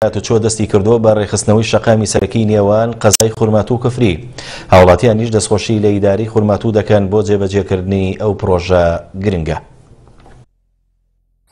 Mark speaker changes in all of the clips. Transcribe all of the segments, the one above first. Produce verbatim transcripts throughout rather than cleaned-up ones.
Speaker 1: هاتوچۆ دەستی کردووە بە ڕێکخستنەوەی شەقامی سەرەکی نێوان قەزای خورماتوو و کفری. هاوڵاتیانیش دەستخۆشی لە ئیدارەی خورماتوو دەکەن بۆ جێبەجێکردنی ئەو پرۆژە گرنگە.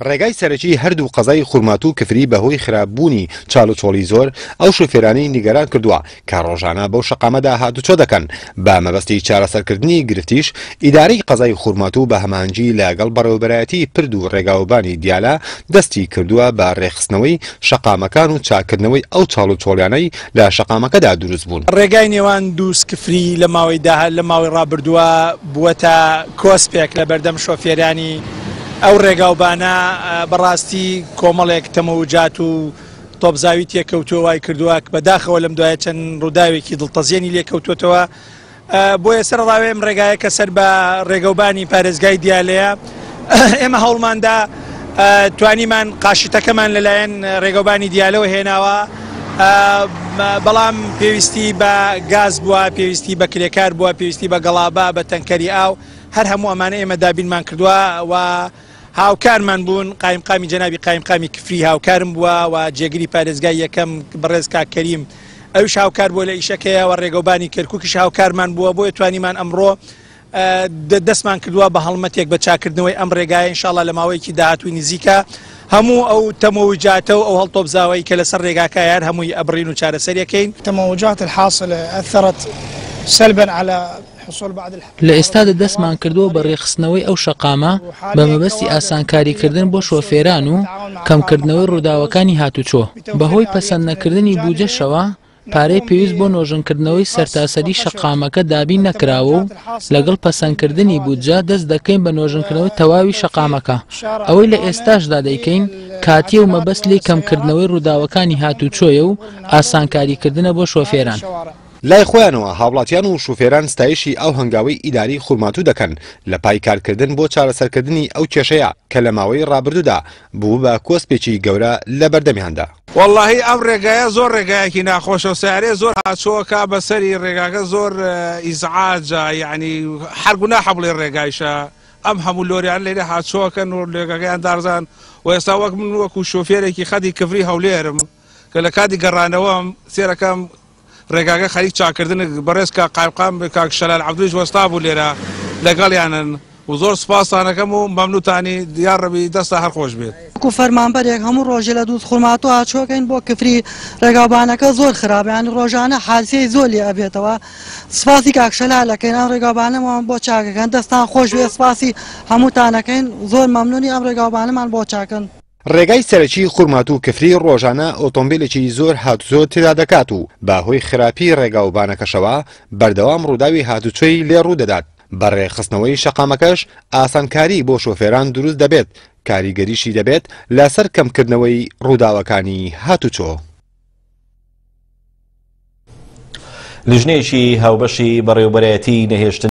Speaker 2: ڕێگای سەرەکی هەردوو قەزای خورماتوو و کفری بەهۆی خراپبوونی چاڵوچۆڵی زۆر ئەو شۆفێرانەی نیگەران کردووە کە ڕۆژانە بەو شەقامەدا هاتوچۆ دەکەن. بە مەبەستی چارەسەرکردنی گرفتیش ئیدارەی قەزای خورماتوو بە هەماهەنگی لەگەڵ بەڕێوەبەرایەتی پرد و ڕێگاوبانی دیالە دەستی کردووە بە ڕێکخستنەوەی شەقامەکان و چاکردنەوەی ئەو چاڵوچۆڵیانەی لە شەقامەکەدا دروست بوون.
Speaker 3: ڕێگای نێوان دووس کفری لە ماوەی لە ماوەی ڕابردووە بووەتە کۆسپێک لە بەردەم شۆفێرانی ئەو ڕێگاوبانە. بەڕاستی کۆمەڵێک تەمەوجات و تۆپزاوی تێکەوتووە وای کردووە بەداخەوە لەم دوایە چەند ڕووداوێکی دڵتەزیێنی لێکەوتووەتەوە. بۆیە سەر ڕاوێ ئەم ڕێگایە کە سەر بە ڕێگەوبانی پارێزگای دیالەیە، ئێمە هەوڵماندا توانیمان قاشتەکەمان لەلایەن ڕێگەوبانی دیالەوە هێناوە، بەڵام پێویستی بە گاز بووە، پێویستی بە کرێکار بووە، پێویستی بە گەڵابە، بە تەنکەری ئاو، هەر هەموو ئەمانە ئێمە دابینمان کردووە و هاوکارمان بوون. قایمقامی جەنابی قایمقامی کفری هاوکارم بووە و جێگری پارێزگای یەکەم بەڕێز کاک کەریم ئەویش هاوکار بووە لە ئیشەکەیە و ڕێگەوبانی کەرکووکیش هاوکارمان بووە. بۆیە توانیمان ئەمڕۆ دەستمان کردووە بە هەڵمەتێک بە چاکردنەوەی ئەم ڕێگایە. ئینشاءڵڵا لە ماوەیەکی داهاتووی نزیکە هەموو ئەو تەمەوجاتە و ئەو هەڵتۆپزاوەی کە لەسەر ڕێگاکە هەر هەمووی ئەبڕین و چارەسەریەکەین.
Speaker 4: التموجات الحاصلة أثرت سلبا على
Speaker 5: لە ئێستادا دەستمان کردووە بە ڕێکخستنەوەی ئەو شەقامە بە مەبەستی ئاسانکاریکردن بۆ شۆفێران و کەمکردنەوەی ڕووداوەکانی هاتوچۆ. بەهۆی پەسەند نەکردنی بودجەشەوە پارەی پێویست بۆ نۆژەنکردنەوەی سەرتاسەری شەقامەکە دابین نەکراوە و لەگەڵ پەسەندکردنی بودجە دەست دەکەین بە نۆژەنکردنەوەی تەواوی شەقامەکە. ئەوەی لە ئێستاشدا دەیکەین کاتیە و مەبەست لێی کەمکردنەوەی ڕووداوەکانی هاتوچۆیە و ئاسانکاریکردنە بۆ شۆفێران.
Speaker 2: لای خۆیانەوە هاوڵاتیان و شوفێران ستایشی ئەو هەنگاوەی ئیداری خورماتوو دەکەن لە پای کارکردن بۆ چارەسەرکردنی ئەو کێشەیە کە لە ماوەی ڕابردوودا بوو بە کۆسپێکی گەورە لە بەردەمیاندا.
Speaker 6: وەڵڵاهی ئەم ڕێگایە زۆر ڕێگایەکی ناخۆشە و سیارەیە زۆر هاچۆکە بەسەری ڕێگاکە زۆر ئیزعاجە، یعنی هەر گوناحە بڵێ ڕێگایشە. ئەم هەموو لۆریان لێرە هاچۆکەن و ڕێگاکەیان دارزان و ئێستا وەک من وەکو شۆفێرێکی خەدی کفری هەولێرم کە لە کاتی گەڕانەوەم سێرەکەم ڕێگاکە خەریک چاکردن بەڕێز کاک قایمقام کاک شەلال عەبدولیش وەستا بوو لێرە لەگەڵیانن و زۆر سوپاسانەکەم و مەمنوتانی یاڕەبی دەستا هەر خۆش بێت.
Speaker 7: وەکو فەرمانبەرێک هەموو ڕۆژێ لە دووز خورماتوو هاچۆکەین بۆ کفری، ڕێگاوبانەکە زۆر خراپە، یعنی ڕۆژانە حادیسەی زۆر لێ ئەبێتەوە. سوپاسی کاک شەلال ئەکەین ئەم ڕێگاوبانەمان بۆ چاکەکەن، دەستان خۆش بێ، سوپاسی هەمووتانەکەین، زۆر مەمنونی ئەم ڕێگاوبانەمان بۆ چاکەن.
Speaker 2: ڕێگای سەرەکی خورماتوو کفری ڕۆژانە ئۆتۆمبیلێکی زۆر هاتوچۆ تێدا دەکات و بەهۆی خراپی ڕێگاوبانەکەشەوە بەردەوام ڕووداوی هاتوچۆی لێ ڕوو دەدات. بە ڕێکخستنەوەی شەقامەکەش ئاسانکاری بۆ شۆفێران دروست دەبێت، کاریگەریشی دەبێت لەسەر کەمکردنەوەی ڕووداوەکانی هاتوچۆ.
Speaker 1: لیژنەیەکی هاوبەشی بەڕێوەبەرایەتی نەهێشتن